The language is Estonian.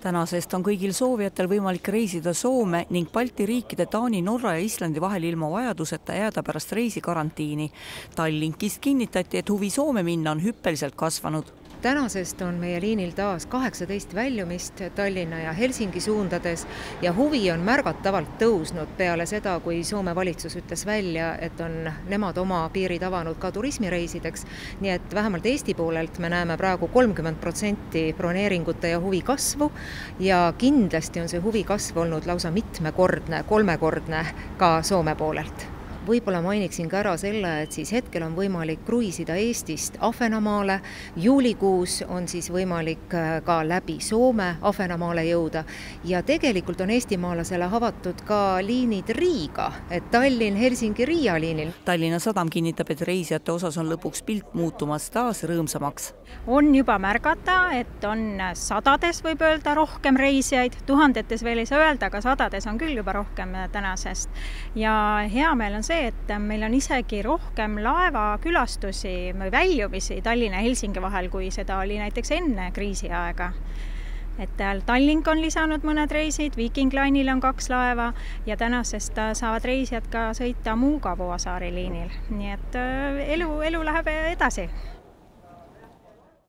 Tänasest on kõigil soovijatel võimalik reisida Soome ning Balti riikide Taani, Norra ja Islandi vahel ilma vajaduseta jääda pärast reisi karantiini. Tallinkist kinnitati, et huvi Soome minna on hüppeliselt kasvanud. Tänasest on meie liinil taas 18 väljumist Tallinna ja Helsingi suundades ja huvi on märgatavalt tõusnud peale seda, kui Soome valitsus ütles välja, et on nemad oma piirid avanud ka turismireisideks. Nii et vähemalt Eesti poolelt me näeme praegu 30% broneeringute ja huvi kasvu ja kindlasti on see huvi kasv olnud lausa mitmekordne, kolmekordne ka Soome poolelt. Võib-olla mainiksin ka ära selle, et siis hetkel on võimalik kruiisida Eestist Ahvenamaale. Juulikuus on siis võimalik ka läbi Soome Ahvenamaale jõuda. Ja tegelikult on eestimaalasele avatud ka liinid Riiga, et Tallinn, Helsingi, Riia liinil. Tallinna Sadam kinnitab, et reisijate osas on lõpuks pilt muutumas taas rõõmsamaks. On juba märgata, et on sadades võib öelda rohkem reisijaid, tuhandetes veel ei saa öelda, aga sadades on küll juba rohkem tänasest. Ja hea meel on see, et meil on isegi rohkem laevakülastusi või väljumisi Tallinna ja Helsingi vahel, kui seda oli näiteks enne kriisiaega. Et Tallink on lisanud mõned reisid, Viking Line'il on 2 laeva ja tänasest saavad reisijad ka sõita Muuga Vuosaari liinil. Nii et elu läheb edasi.